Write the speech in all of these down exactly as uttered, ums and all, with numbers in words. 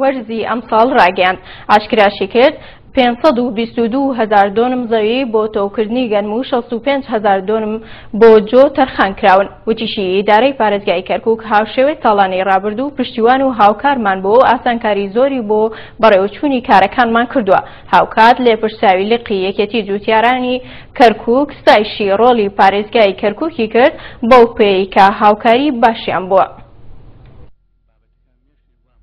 وەرزی ئەمساڵ ڕاگەیاند. ئاشکراشی کرد پێنج سەد و بیست و دوو هەزار دۆنم زەوی بۆ تۆوکردنی گەنم و شەست و پێنج هەزار دۆنم بۆ جۆ تەرخان کراون. وتیشی ئیدارەی پارێزگای کەرکوک هاوشێوەی ساڵانەی ڕابردوو پشتیوان و هاوکارمان بۆ ئاسانکاری زۆری بۆ بەڕێوەچوونی کارەکانمان کردووە. هاوکات لێپرسراوی لقی یەکێتی جوتیارانی کەرکوک ستایشی ڕۆڵی پارێزگای کەرکوکی کرد بەو پێی کە هاوکاری باشیان بووە.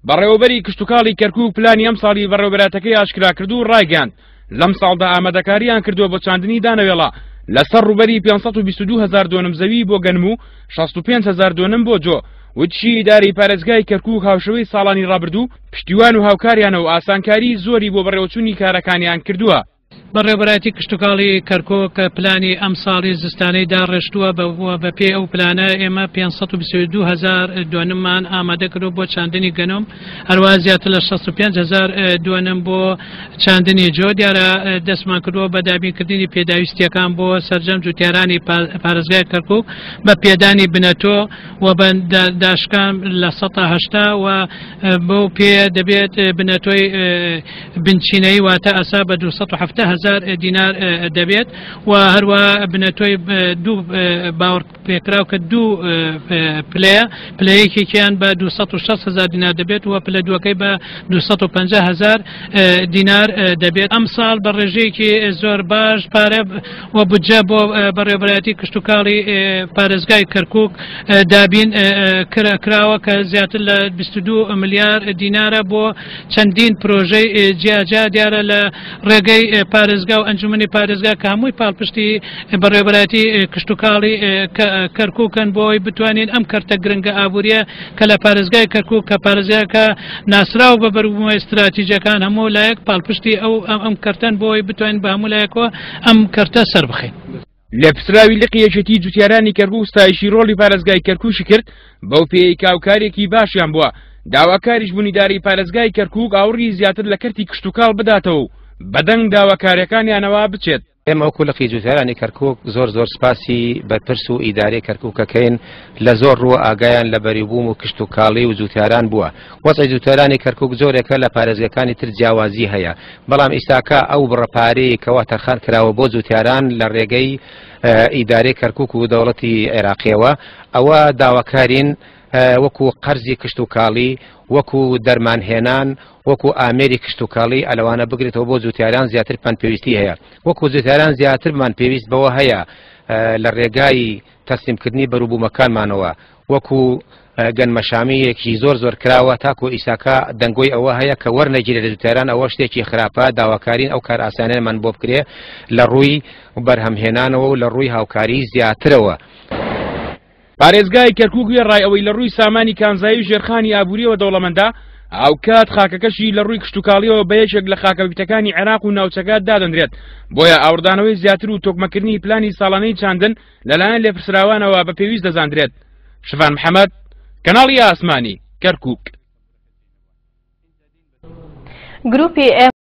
بەڕێوەبەری کشتوکاڵی کەرکوک پلانی ئەمساڵی بەڕێوەبەراتەکەی ئاشکرا کرد و ڕایگەیاند لەم ساڵدا ئامادەکاریان کردووە بۆ چاندنی دانەوێڵە لەسەر ڕووبەری پێنج سەد و بیست و دوو هەزار دۆنم زەوی بۆ گەنم و شەست و پێنج هەزار دۆنم بۆ جۆ. وتشی ئیدارەی پارێزگای کەرکوک هاوشێوەی ساڵانی ڕابردوو پشتیوان و هاوکاریانە و ئاسانکاری زۆری بۆ بەڕێوەچوونی کارەکانیان کردووە. بەڕێوەبەرایەتی کشتوکاڵی کەرکوک پلانی ئەمساڵی زستانەی داڕێژتووە بە پێی ئەو پلانە ئێمە پێنج سەد و بیست و دوو هەزار دۆنممان ئامادە کردووە بۆ چاندنی گەنم، هەروە زیاتر لە شەست و پێنج هەزار دۆنم بۆ چاندنی جۆ. دیارە دەستمان کردووە بە دابینکردنی پێداویستیەکان بۆ سەرجەم جوتیارانی پارێزگای کەرکوک بە پێدانی بنەتۆ و بە داشکان لە سەدا هەشتا و بەو پێ دەبێت بنەتۆی بنچینەی واتە ئەسا بە دوو سەد و حەفتا هەزار دینار دەبێت و هەروە بنەتۆی دوو باوەڕ پێکراو کە دوو پلەیە، پلەیەکێکیان بە دوو سەد و شەست هەزار دینار دەبێت و پلە دووەکەی بە دوو سەد و پەنجا هەزار دینار دەبێت. ئەمساڵ بە ڕێژەیەکی زۆر باش پارە و بودجە بۆ بەڕێوەبەرایەتی کشتوکاڵی پارێزگای کەرکوک دابین کراوە کە زیاتر لە بیست و دوو ملیار دینارە بۆ چەندین پرۆژەی جیاجیا. دیارە لە ڕێگەی پارێزگا و ئەنجومەنی پارێزگا کە هەمووی پاڵپشتی بەڕێوەبەرایەتی کشتوکاڵی کەرکوکن بۆ ئەوەی بتوانین ئەم کەرتە گرنگە ئابووریە کە لە پارێزگای کەرکوک کە پارێزگاکە ناسراو بە بەربوومە ئیستراتیژەکان هەموو لایەک پاڵپشتی ئەو ئەم کەرتەن بۆ ئەوەی بتوانین بە هەموو لایەکەوە ئەم کەرتە سەر بخەین. لێپرسراوی لقی یەکێتی جوتیارانی کەرکوک ستایشی ڕۆڵی پارێزگای کەرکوکی کرد بەو پێی کاوکارێکی باشیان بووە. داواکاریش بوون ئیدارەی پارێزگای کەرکوک ئاوڕی زیاتر لە کەرتی کشتوکاڵ بداتەوە و بەدەنگ داواکاریەکانیانەوە بچێت. ئێمە وەکو لقی جوتیارانی کەرکوک زۆر زۆر سپاسی بەرپرس و ئیدارەی کەرکوکەکەین لە زۆر ڕووە ئاگایان لە بەریبووم و کشتوکاڵی و جوتیاران بووە. وەزعی جوتیارانی کەرکوک جۆرێکە لە پارێزگەکانی تر جیاوازی هەیە، بەڵام ئیستاکە ئەو بڕە پارەیە کەوا تەرخان کراوە بۆ جوتیاران لە ڕێگەی ئیدارەی کەرکوک و دەوڵەتی عێراقیەوە، ئەوە داواکارین وەکو قەرزی کشتوکاڵی، وەکو دەرمانهێنان، وەکو ئامێری کشتوکاڵی ئەلەوانە بگرێتەوە بۆ جوتیاران زیاتر پان پێویستی هەیە. وەکو جوتیاران زیاترمان پێویست بەوە هەیە لە ڕێگای تەسلیمکردنی بەروبوومەکانمانەوە، وەکو گەنمەشامییەکی زۆر زۆر کراوە تاکو ئیساکە دەنگۆی ئەوە هەیە کە وەرنەگیرێت لە جوتیاران، ئەوە شتێکی خراپە. داواکارین ئەو کار ئاسانیانمان بۆ بکرێ لە ڕووی بەرهەمهێنانەوە و لە ڕووی هاوکاری زیاترەوە. پارێزگای کەرکوک وێڕای ئەوەی لە ڕووی سامانی کانزایی و ژێرخانی ئابووریەوە دەوڵەمەندە، هاوکات خاکەکەشی لە ڕووی کشتوکاڵیەوە بە یەکێک لە خاکەویتەکانی عێراق و ناوچەکە دادەنرێت. بۆیە ئاوردانەوەی زیاتر و تۆکمەکردنی پلانی ساڵانەی چاندن لەلایەن لێپرسراوانەوە بە پێویست دەزاندرێت. شڤان محەممەد، کەناڵی ئاسمانی، کەرکوک. گروپی ئێم